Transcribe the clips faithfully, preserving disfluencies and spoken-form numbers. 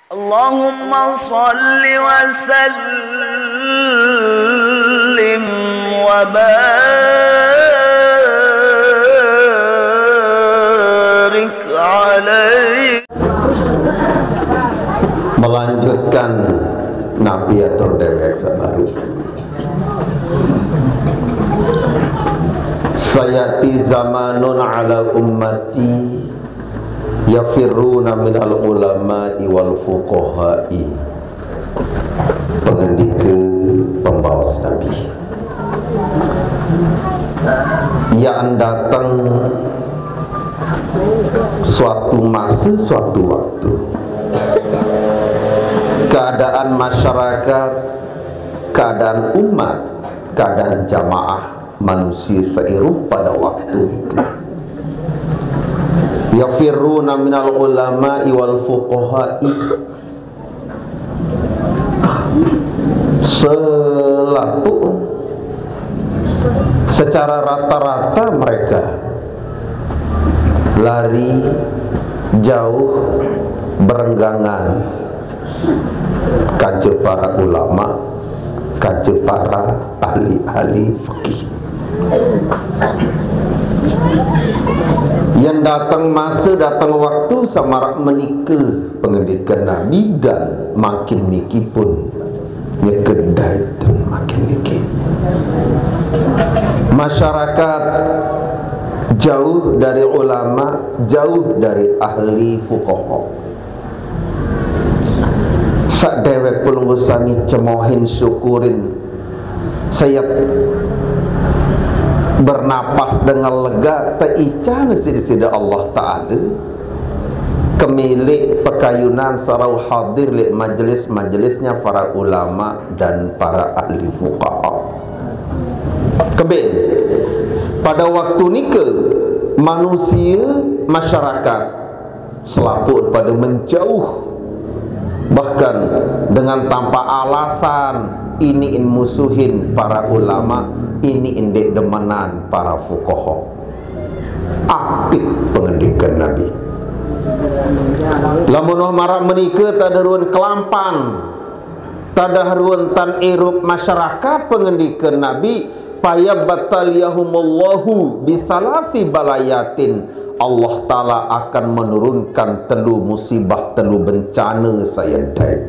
اللهم صل وسلم وبارك عليه. Melanjutkan napi atur dewek sabaru. Sayati zamanun ala ummati yafirruna minal ulama'i wal fuqaha'i. Pengendika pembaos Nabi. Yang datang suatu masa, suatu waktu, keadaan masyarakat, keadaan umat, keadaan jamaah manusia seirup pada waktu itu. Yafirruna minal ulama'i wal fuqaha'i. Selaku secara rata-rata mereka lari jauh berenggangan kaja para ulama, kaja para ahli-ahli fikih. Yang datang masa, datang waktu samarak menika pengendikan Nabi, dan makin niki pun nyekedai dan makin niki. Masyarakat jauh dari ulama, jauh dari ahli fuqaha. Sadewek pelungguh sami cemohin syukurin. Saya bernapas dengan lega, teican sida-sida Allah Ta'ala, kemilik pekayunan sarau hadir li majlis-majlisnya para ulama dan para ahli fuqaha. Kebin, pada waktu nika, manusia, masyarakat, selaku pada menjauh, bahkan dengan tanpa alasan, ini in musuhin para ulama, ini in dek demenan para fuqaha. Apit pengendikan Nabi. Lamun wah marak menika, tada ruan kelampan, tada ruan tan irup masyarakat, pengendikan Nabi, paya bataliyahumullahu bisalasi balayatin. Allah Ta'ala akan menurunkan telu musibah, telu bencana saya dai.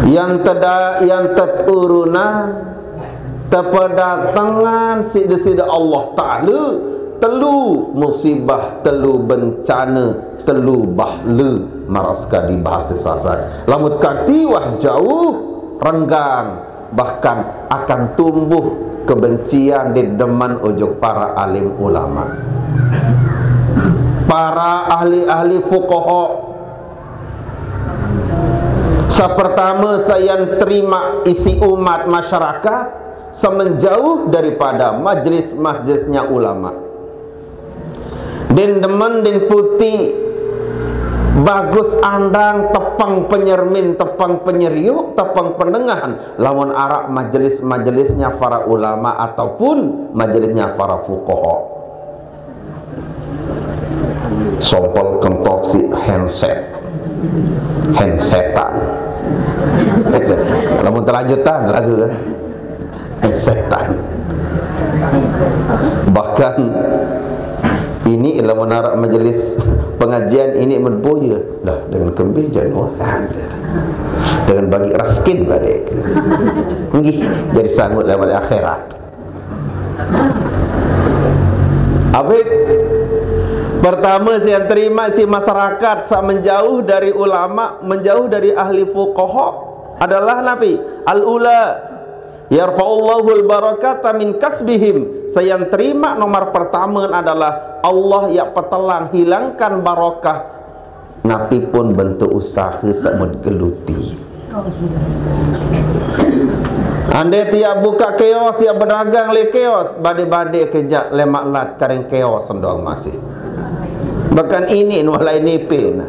Yang teda, yang teturunan, tepadatangan sida-sida Allah Ta'ala, telu musibah, telu bencana, telu bahla, maras kadi bahasa Sasak. Lamun kati wah jauh, renggang, bahkan akan tumbuh kebencian di deman ujuk para alim ulama. Para ahli-ahli fuqaha. Sapertama, sayan terima isi umat masyarakat, semenjauh daripada majlis-majlisnya ulama. Din demen, din puti, bagus andang, tepang penyermin, tepang penyeriuk, tepang pendengahan, lamun arak majelis-majelisnya para ulama ataupun majelisnya para fuqaha. Sompol kentok si handset, handsetan. Lamun terlanjutan lagu kan. Setan. Bahkan ini lamun arak majelis pengajian ini menboya lah dengan kembejan wah, dengan bagi raskin balik. Nggih, jadi sangut lewat akhirat. Abid, pertama saya terima si masyarakat sa menjauh dari ulama, menjauh dari ahli fuqaha adalah napi? Al-ula, yarfa'ullahul barakata min kasbihim. Saya terima nomor pertama adalah Allah yang petelang hilangkan barakah. Napi pun bentuk usaha semut geluti. Andai tiap buka kios, tiap berdagang le kios, bade-bade kejak lemak lat karing kios sendong masih. Bahkan ini nualai nipin.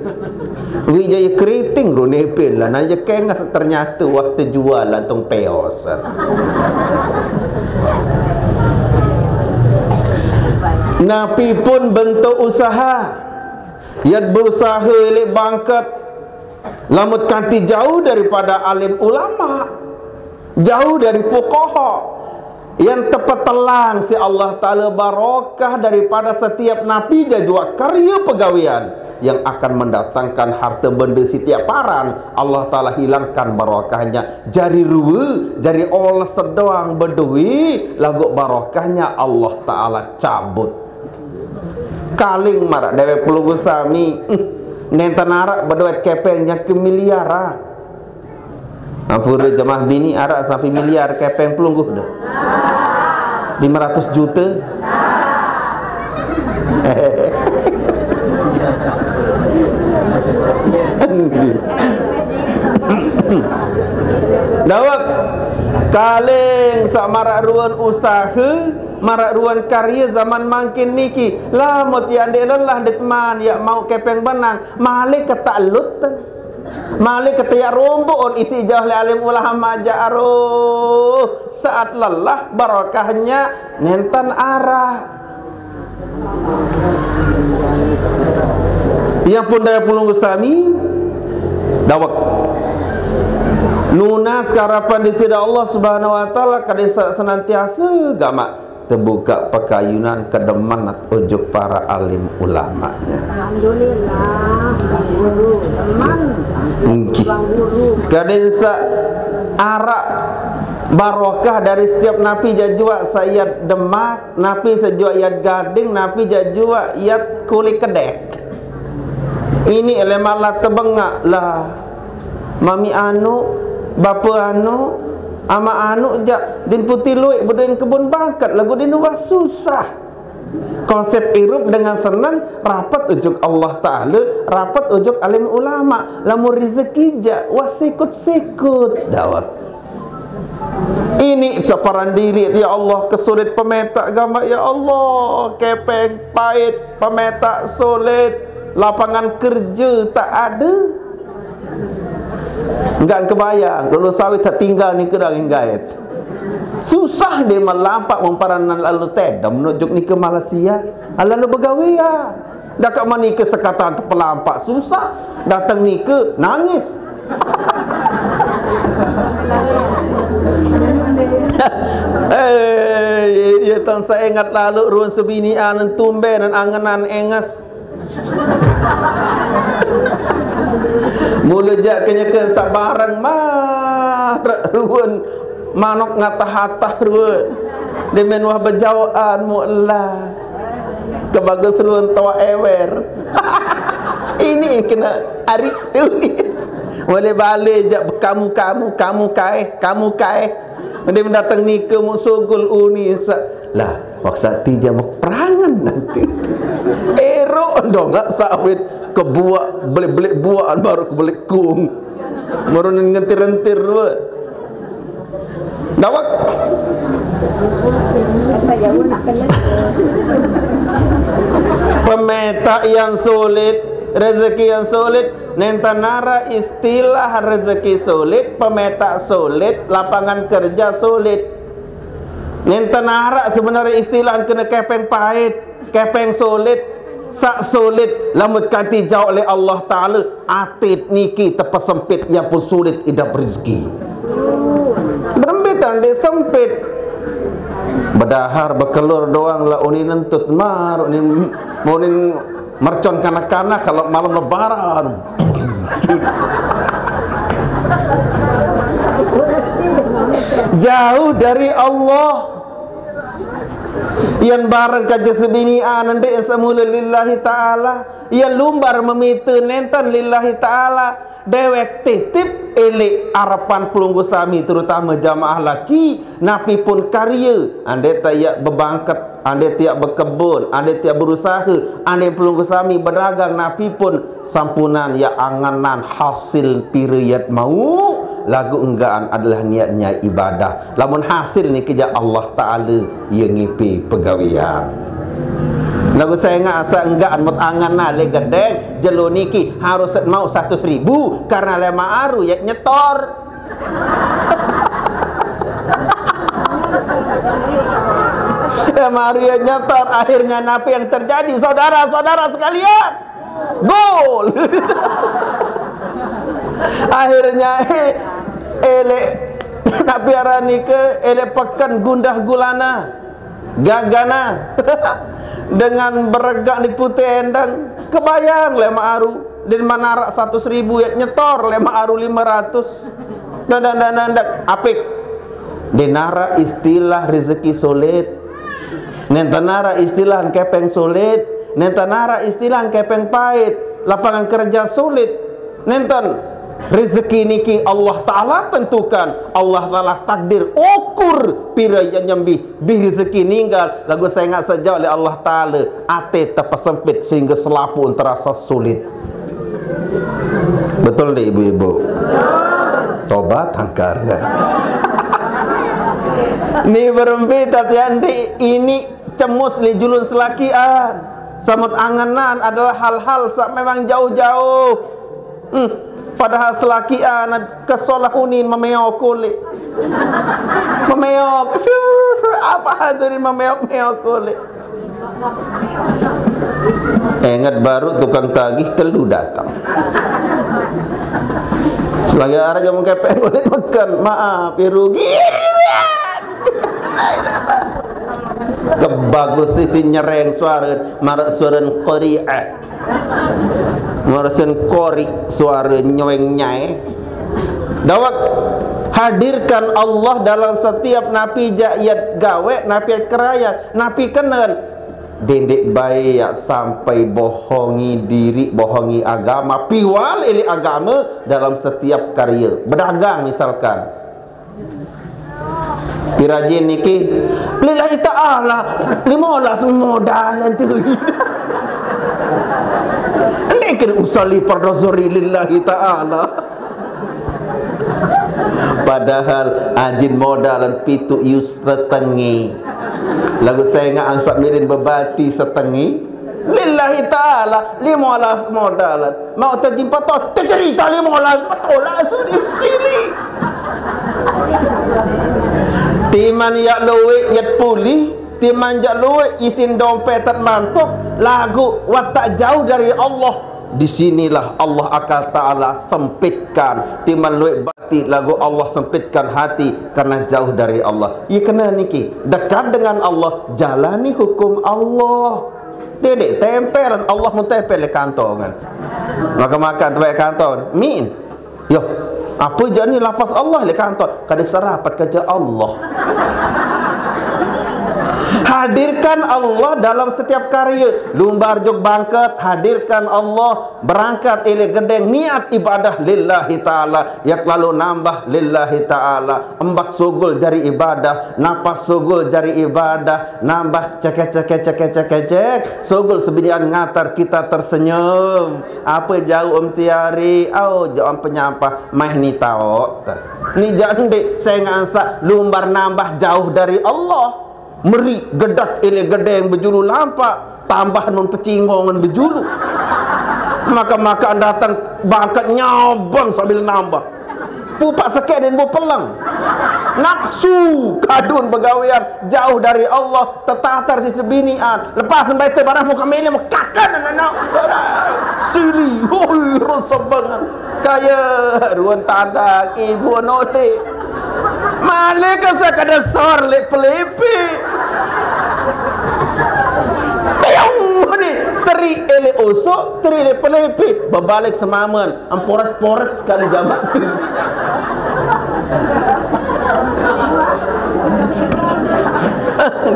Wijaya keriting ru nipin lah, nanya kengas ternyata waktu jual lantung peos. Napi pun bentuk usaha, Yat berusaha elek bangket, lamut kanti jauh daripada alim ulama, jauh dari fuqaha. Yang tepetelang si Allah Taala barokah daripada setiap napi jajua karya pegawean yang akan mendatangkan harta benda setiap paran. Allah Taala hilangkan barokahnya. Jari rua, jari oles sedoang bedui, lagu barokahnya Allah Taala cabut. Kaling marak dewek pelunggu sami. Nenten arak bedewek kepeng nya ke miliar ah. Ampura jemaah bini arak sampai miliar kepeng pelunggu dah. Lima ratus juta. Dawek kaling sak marak ruan usaha, marak ruan karya zaman mangkin niki. Lamut ya ndek lelah ndek teman ya mau kepeng benang, malik ketak lut. Malik ketak ya rombok on isi jauh le alim ulama ja aruh. Saat lelah barokahnya nenten arah. Yang pun daya pulung sami dawek. Nunas karapan di sida Allah Subhanahu wa taala kada sa-, senantiasa gamak tebuka pakayunan kedemen ujuk para alim ulamanya. Alhamdulillah, Bang Guru. Teman. Nggih. Bang Guru. Kadin sa arak barokah dari setiap napi jajua sayat demak, napi sajua yat gading, napi jajua yat kulit kedek. Ini ele malah tebengak lah. Mami anu, bapa anu, ama anu ja din putih luik bedin kebun bangket lagu din wah susah. Konsep irup dengan senang rapat ujuk Allah Taala, rapat ujuk alim ulama. Lamun rezeki ja wah sikut-sikut dawat. Ini separan diri ya Allah kesulit pemetak gamak ya Allah, kepeng pahit, pemetak sulit, lapangan kerja tak ada. Enggak kebayang, lalu sawit tak tinggal ni kerang inggait. Susah dia melampak memparanan lalu tedam menuju ni ke Malaysia. Lalu begawe ya. Dah kat mana ke sekatan terpelampak susah. Datang ni ke nangis. Eh, ya tang saya ingat lalu ruang sebini anan tumben dan angenan engas. Mula jak kenyeken sabarang mar ruan manok ngatah-atah ruan. Demen wah bejauhan mu'lah. Kebagus ruan tua ewer. Ini kena hari tu. Boleh balik jak kamu, kamu, kamu kai, kamu kai. Dia mendatang ni ke mu sugul uni sa-, lah. Paksa ti dia perangan nanti. Erok dongak sawit kebuak belik-belik buak baru kebelik kung. Merunin ngentir-entir dua. Dawak. Pemetak yang sulit, rezeki yang sulit, nenta nara istilah rezeki sulit, pemetak sulit, lapangan kerja sulit. Nenten arak sebenarnya istilah kena kepeng pahit, kepeng sulit, sak sulit, lamut kanti jauh oleh Allah Ta'ala, atit niki tepesempit, ia pun sulit idap rezeki. Berembitan dia sempit. Bedahar bekelur doang lah unin entut mar, unin, unin mercon kanak-kanak kalau malam lebaran. Jauh dari Allah. Yang bareng kaja sebini anande semula lillahi ta'ala. Yang lumbar memita nenten lillahi ta'ala. Dewek titip elik arapan pelunggu sami, terutama jamaah laki, napi pun karya, ande tiak bebangket, ande tiak bekebun, ande tiak berusaha, ande pelunggu sami bedagang, napi pun sampunan ya anganan hasil pira yat mau, lagu enggaan adalah niatnya ibadah. Lamun hasil ni keja Allah Ta'ala ya ngipi pegawian. Lagu saya ngasa enggaan mut angan nale gedeng, jelo niki harus mau seratus ribu karena lema aru ya nyetor. Lema aru ya nyetor, akhirnya napi yang terjadi, saudara-saudara sekalian? Gol. Akhirnya, eh, elek nak piara nike, elek peken gundah gulana, gagana. Dengan beregak ni putih endang, kebayang le Mak Aru. Din manarak satus ribu, ya nyetor le Mak Aru lima ratus. Ndak, ndak, ndak, ndak. Apik. Din nara istilah rezeki sulit. Nenten nara istilah kepeng sulit. Nenten nara istilah kepeng pait. Lapangan kerja sulit. Nenten. Rezeki niki Allah Ta'ala tentukan. Allah Ta'ala takdir, ukur pira ya nyembih. Bih rezeki ninggal, lagu sengak sejauh oleh Allah Ta'ala. Ate tepesempit sehingga selapuq terasa sulit. Betul ndak, ibu-ibu? Tobat angkar. Ni berembe tatian di ini cemus li julun selakian. Samut angenan adalah hal-hal sak memang jauh-jauh. Hmm. Padahal selakian kesolah unin memeok kulit. Memeok. Apa hadirin memeok-meok kulit? Ingat baru tukang tagih telu datang. Selagi arah jamu kepeng boleh makan. Maaf, ya rugi. Kebagus sisi nyereng suara, marak suara qari'ah. Marak suara qari, suara nyeweng nyai. Dawak, hadirkan Allah dalam setiap napi jaq yat gawe, napi yat keraya, napi kenen. Dendeq bae yaq sampai bohongi diriq, bohongi agama, piwal eleq agama dalam setiap karya. Bedagang misalkan. Pirajin niki lillahi ta'ala, limolas modal ente. Ndeq kene usalli fardhu zuhri lillahi ta'ala. Padahal ajin modalan pituq yus setenge. Laguq sengaq ansaq mirin bebati setenge. Lillahi ta'ala, limolas modalan. Mau tajin petos, tecerita limolas petolas di sini. Timan yaq lueq yat pulih, timan yaq lueq isin dompet tet mantuk, laguq watak jauh dari Allah. Di sinilah Allah akan Ta'ala sempitkan. Timan lueq bati laguq Allah sempitkan hati karena jauh dari Allah. Ie kene niki, dekat dengan Allah, jalani hukum Allah. Dendeq tempelan Allah mun tempel leq kantor kan. Makan-makan tempat kantor. Min. Yo, apa jani lafaz Allah leq kantor? Kadang serapat kerja Allah. Hadirkan Allah dalam setiap karya. Lumbar jok bangket, hadirkan Allah. Berangkat eleq gedeng, niat ibadah lillahi ta'ala. Yaq lalu nambah lillahi ta'ala. Embak sugul jari ibadah, napas sugul jari ibadah, nambah cekek, cekek, cekek, cekek, cek. Sugul sebinian ngatar kita tersenyum. Apa jauq Om Tiari? Au, jauq Om penyampah, maih ni taoq. Ni jaq ndeq, sengaq ansaq lumbar nambah jauh dari Allah. Meri gedak eleq gedeng bejulu lampaq, tambah nun pecingongan bejulu. Maka-maka datang bangket nyabang sambil nambah. Pupak sekeq den bu peleng. Nafsu kadun begawean jauh dari Allah, tetatar si sebinian. Lepas sembahyang barang muka mele mekakan anak. Sili, hoi, rasa banget. Kaya ruan tadak ibu node. Male ke sekadar sor leq pelepe. Piung ni, teri eleq osok, teri eleq pelepe. Bebalik semamen. Emporet-poret sekali jamak.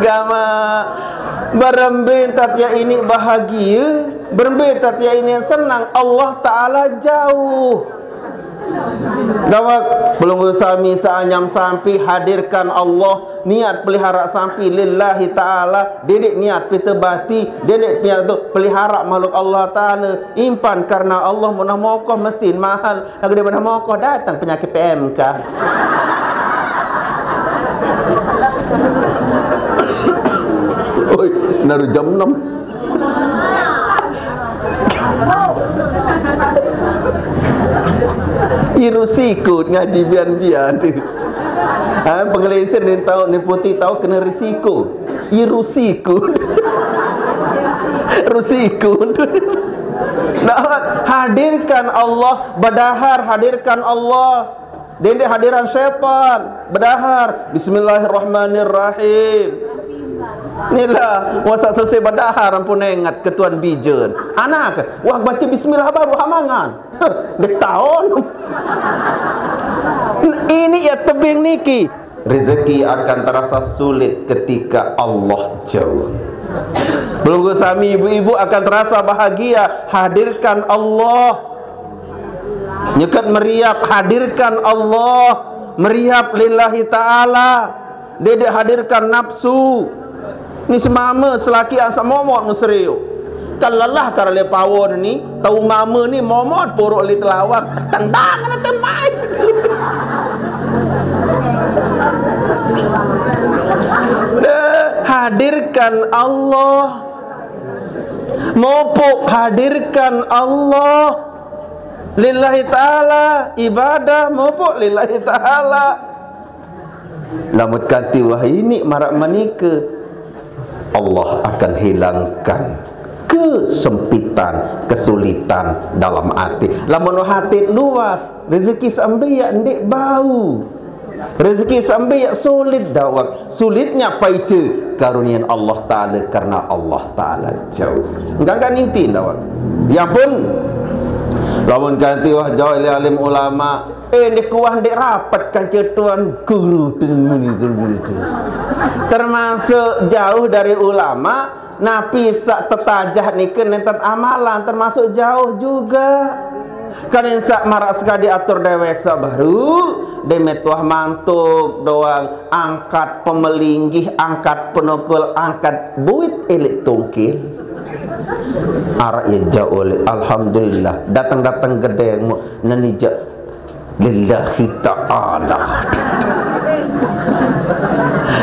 Gamaq. Berembe tatia ini bahagia, berembe tatia ini senang, Allah Ta'ala jauh. Dawak, pelungguh sami seanyam sampi hadirkan Allah, niat pelihara sampi lillahi ta'ala, didik niat pite bati, didik niat tu pelihara makhluk Allah Ta'ala, impan karena Allah, munah mokoh mesti mahal, lagu daripada mokoh datang penyakit P M K. Oi, naru jam enam. Irusiku ngaji bian-bian. Ha, pengelesen ni tau, ni putih tau kena risiko. Irusiku. Rusiku. Nah, hadirkan Allah, bedahar, hadirkan Allah. Dendeq hadiran setan, bedahar. Bismillahirrahmanirrahim. Nilah, masa selesai bedahar, ampun inget ketuan bijen. Anak, wah, baca bismillah baru hamangan. Dek tahun. Ini ya tebing niki. Rezeki akan terasa sulit ketika Allah jauh. Pelungguh sami, ibu-ibu, akan terasa bahagia. Hadirkan Allah. Nyeket meriap, hadirkan Allah. Meriap lillahi ta'ala. Dia hadirkan nafsu. Ni semame selaki asa momot nu seriuk. Kan lelah kar le pawon ni, tau mame ni momot puruk li telawang. Tendang kena tembai. Deh, hadirkan Allah. Mopok hadirkan Allah. Lillahi ta'ala, ibadah mopok lillahi ta'ala. Lamun kanti wah ini marak menike, Allah akan hilangkan kesempitan, kesulitan dalam hati. Lamun hati luas, rezeki seambil ndeq bau. Rezeki seambil sulit dawek. Sulitnya paice karunian Allah Ta'ala karena Allah Ta'ala jauh. Enggak, enggak ninti dawek. Ya pun, lamun kanti wah jauh ilih alim ulama, eh, ndeq kuah ndeq rapet kance tuan guru. Termasuk jauh dari ulama, napi saq tetajah nike nenten amalan, termasuk jauh juga. Kan saq maraq sekadi atur dewek saq baru, deq metuah mantuk doang, angkat pemelinggih, angkat penukul, angkat buit eleq tungkil. Araq ye jauq oleq, alhamdulillah, dateng-dateng gedeng, mu-, neni jaq lillahi ta'ala.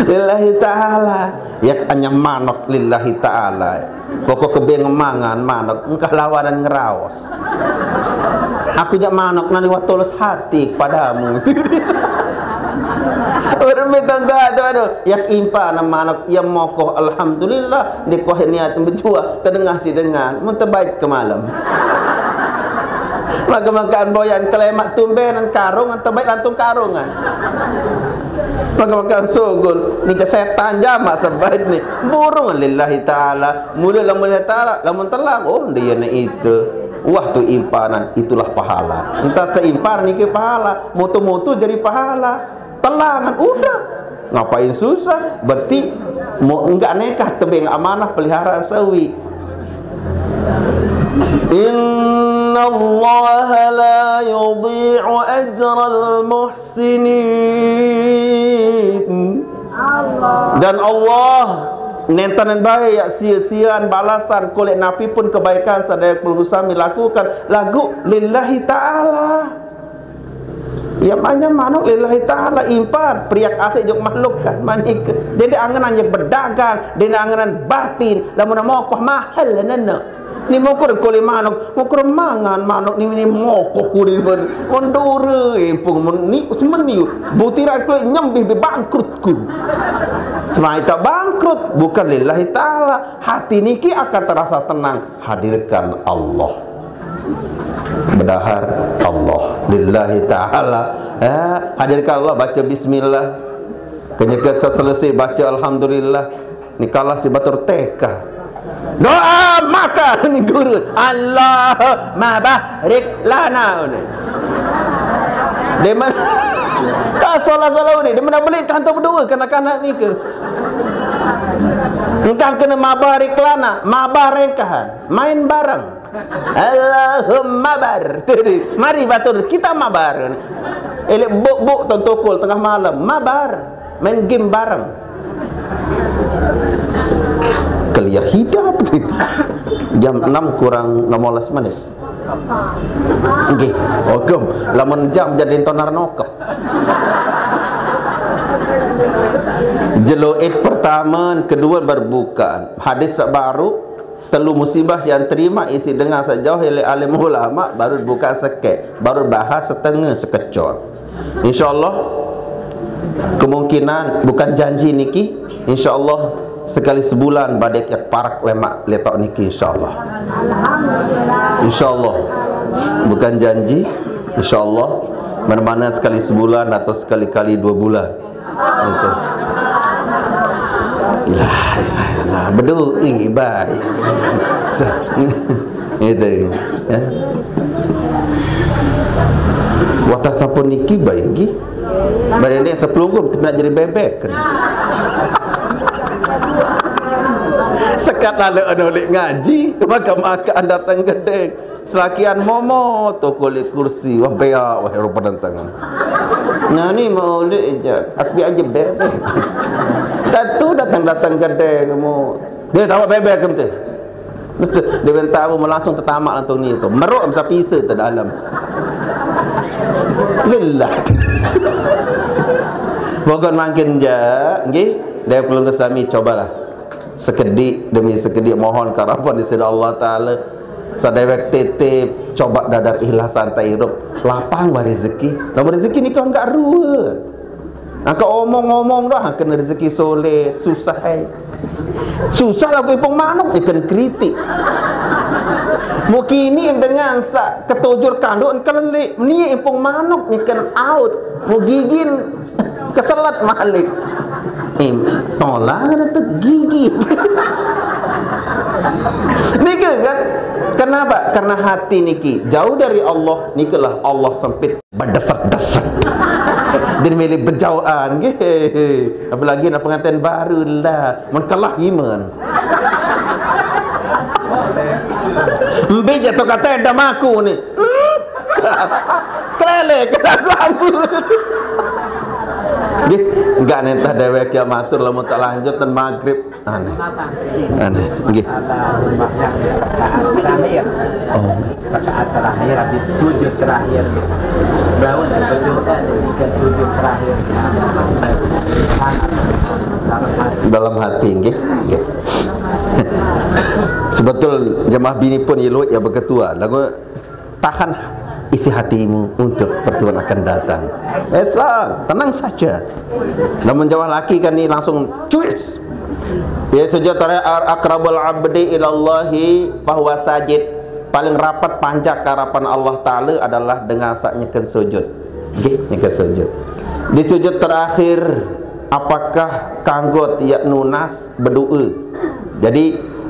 Lillahi ta'ala. Ya, hanya manok lillahi ta'ala. Pokok kebeng mangan manok, engkah lawanan ngeraos. Aku jaq manok nani wah tulus hati padamu. Urut mitang doa tu, aduh, ya impan manok, ya mokoh, alhamdulillah, dikuah niat bejuah, tedengah si dengan, mun tebait ke malam. Maka makan boyan kelemak tumbenan karungan, tebait lantung karungan. Maka makan sugul, ni ke setan jamak sebait ni. Burung lillahi ta'ala, mula lamun lillahi ta'ala, lamun telang, oh, dia ni itu. Wah, tu impanan, itulah pahala. Entah seimpanan niki pahala, mutu-mutu jadi pahala. Telangan, udah. Ngapain susah? Berarti mau enggak nekah tebeng amanah peliharaan sawi. Innallaha la yudhi'u ajral muhsinin. Dan Allah nenten bae ya sia-sian balasan kulit napi pun kebaikan sadaya pelungguh sami lakukan lagu lillahi ta'ala. Ya, manya manuk lillahi ta'ala impan, periak asik juk makhluk kan, manik. Dia angenan yang berdagang, dia angenan batin, lamun mokoh mahal nene. Ni mokoh kuli manuk, mokoh mangan manuk ni, ni mokoh kuli manuk. Mendure impung men-, ni semeni. Butiran kulit nyembih di bangkrutku. Semai tak bangkrut, bukan lillahi ta'ala. Hati niki akan terasa tenang. Hadirkan Allah. Bedahar Allah lillahi ta'ala. Ya, hadirkan Allah, baca bismillah. Kenyeke selesai baca alhamdulillah. Ni kalah si batur teka. Doa makan ni guru. Allahumma barik lana. Demen. Tak salah-salah ni. Demen beli kantor berdua kanak-kanak ni ke. Engkang kena mabar iklana, mabar engkahan. Main bareng. Allahumma bar. Mari batur, kita mabar. Elek buk-buk tong tokol tengah malam, mabar. Main game bareng. Kelia hidup. Jam enam kurang enam belas menit. Nggih, hukum. Lamun jam jadi tonar nokep. Jelo id pertama, kedua berbukaan. Hadis saq baru, telu musibah yang terima isi dengan sejauh oleh alim ulama, baru buka sekek, baru bahas setengah sekecot. Insyaallah, kemungkinan, bukan janji niki, insyaallah Sekali sebulan badai ke parak lemak letak niki, insyaallah. Insyaallah. Bukan janji, insyaallah. Mana-mana sekali sebulan atau sekali kali dua bulan. Itu. La ilaha illallah. Bedu, eh, baik. Itu. Ya. Wata sampun niki baik nggih. Badan ni sepelungguh, kita nak jadi bebek. Sekat lalu anu lek ngaji, makan-makan datang gedeng. Selakian momo tu kulit kursi, wah beak, wah rupa tantangan. Nah ni mau lek je, aku aja bebek. Tentu datang-datang gedeng kamu. Dia tahu bebek kamu tu. Dia minta aku langsung tertamak langsung ni tu. Meruk bisa pisa tu dalam. Lillah. Pokok makin je, nggih. Dia perlu ke sami cobalah. Sekedik demi sekedik mohon karapan di sida Allah Taala. Sadewek titip coba dadar ikhlas santai hidup. Lapang bah rezeki. Lamun rezeki ni kau enggak rua. Angka omong-omong dah kena rezeki soleh, susah ai. Susah lagu ipung manuk ikan kritik. Mukini dengan sa ketujur kanduk kelelik, ni ipung manuk ikan aut, mugigin keselat malik. Im, tolak ada tu gigi. Nika kan? Kenapa? Karena hati niki jauh dari Allah, nikalah Allah sempit. Berdesek-desek. Dia milih berjauhan, gitu. Apalagi nak pengantin baru lah. Mengkalah iman. Mbi jatuh kata ada maku ni. Kelele kena aku. Nggih, enggak nentah dewek ya matur lamun tak lanjut dan maghrib. Aneh. Aneh. Nggih. Ada sembahyang rakaat terakhir. Oh. Rakaat terakhir habis sujud terakhir. Daun berdoa ketika sujud terakhir. Dalam hati, nggih. Nggih. Sebetul jemaah bini pun iluit ya beketua. Lagu tahan isi hatimu untuk pertemuan akan datang. Esok, tenang saja. Namun jawab laki kan ni langsung cuis. Ya, sujud terakhir, aqrabul abdi ilallahi fahuwa sajid. Paling rapat panjak harapan Allah Taala adalah dengan saat nyeken sujud. Nggih, nyeken sujud. Di sujud terakhir, apakah kanggo tiap nunas berdoa? Jadi,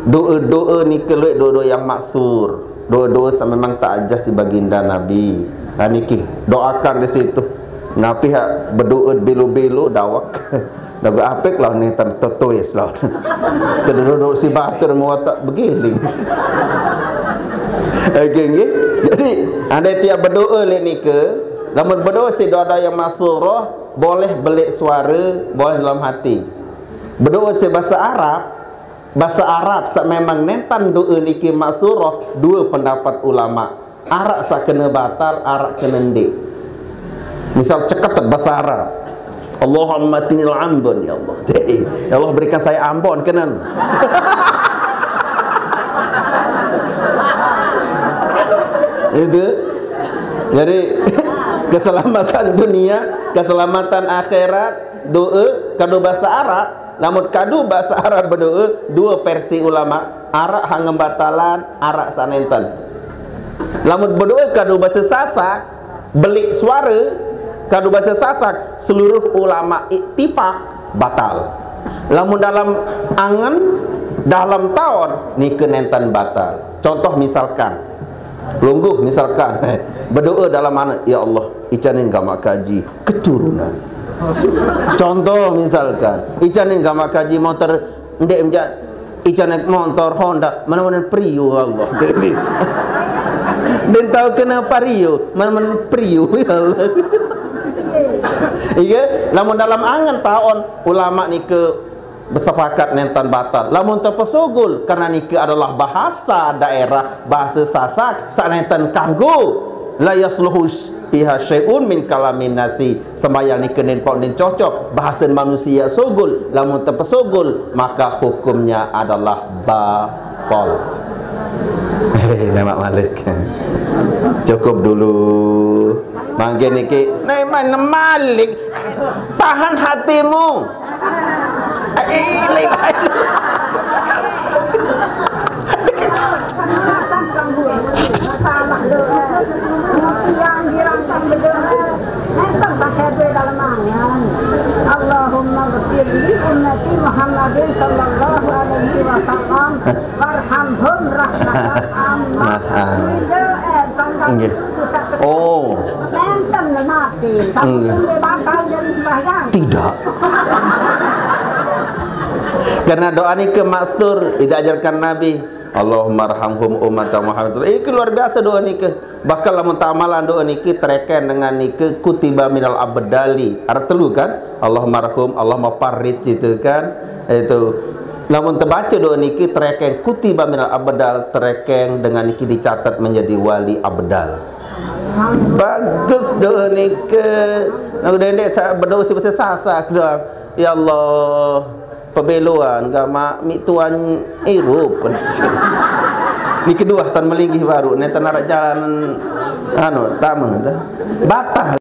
doa-doa ni keluar doa-doa yang maksur. Doa-doa sa memang tak ajar si baginda Nabi. Ha, niki, doakan di situ. Ngapi hak berdoa belo-belo dawak. Lagu apik lah ni ter-, tertulis lah. Keduduk si batur mau tak begiling. Okey, nggih. Jadi, andai tiap berdoa lek nika, lamun berdoa si doa yang maksur, boleh belik suara, boleh dalam hati. Berdoa si bahasa Arab, bahasa Arab sa memang nentan doa niki maksur, dua pendapat ulama. Arak sa kena batal, arak kena ndik. Misal ceket bahasa Arab. Allahumma tinil Ambon, ya Allah. Ya Allah, berikan saya Ambon, kena. Itu. Jadi, keselamatan dunia, keselamatan akhirat, doa, kadu bahasa Arab. Namun kadu bahasa Arab berdoa, dua versi ulama. Arak hang ngembatalan, arak sa nenten. Lamun berdoa kadu bahasa Sasak, belik suara, kadu bahasa Sasak, seluruh ulama ittifak batal. Lamun dalam angen, dalam taon, nika nenten batal. Contoh misalkan, lungguh misalkan, berdoa dalam mana, "Ya Allah, icanin gamak kaji, keturunan." Contoh misalkan, icanin gamak kaji motor, ndek menja, icanin motor Honda, mana-mana Prius, Allah. Dan tahu kenapa Prius, mana-mana Prius, ya Allah. Iya, lamun dalam angen taon ulama nika bersepakat nenten batal. Lamun terpesogol, karena nika adalah bahasa daerah, bahasa Sasak, sa nenten kanggo. La yasluhu fiha syai'un min kalamin nasi. Sembahyang ni kenen pok nen cocok. Bahasa manusia sogol. Lamun terpesogol, maka hukumnya adalah batal. Hei, lemak malik. Cukup dulu. Mangke niki, neman malik. Tahan hatimu. Masalah doa. Siang girang kang berdoa. Nenten pakai doa dalam angan. Allahumma ghfir li ummati Muhammadin sallallahu alaihi wasallam warhamhum rahmatan ammah. Nah, ah. Ini doa, eh, tentang Nggih. Pusat Oh. Nenten mati. Tapi Nggih. Dia batal dari sembahyang. Tidak. Karena doa niki maksur, diajarkan Nabi. Allahumma arhamhum ummata Muhammad. Ini luar biasa doa niki. Bahkan lamun tamalan doa niki tereken dengan niki kutiba minal abdali. Ada telu kan? Allahumma arhum, Allahumma farrij itu kan. Itu. Lamun terbaca doa niki tereken kutiba minal abdal, tereken dengan niki dicatat menjadi wali abdal. Bagus doa niki. Nah, udah ini saya berdoa sih bahasa Sasak doa. Ya Allah, pebeloan gama mi tuan irup. Ni kedua tan melinggih baru, ni tan ada jalan anu, tama dah. Batal.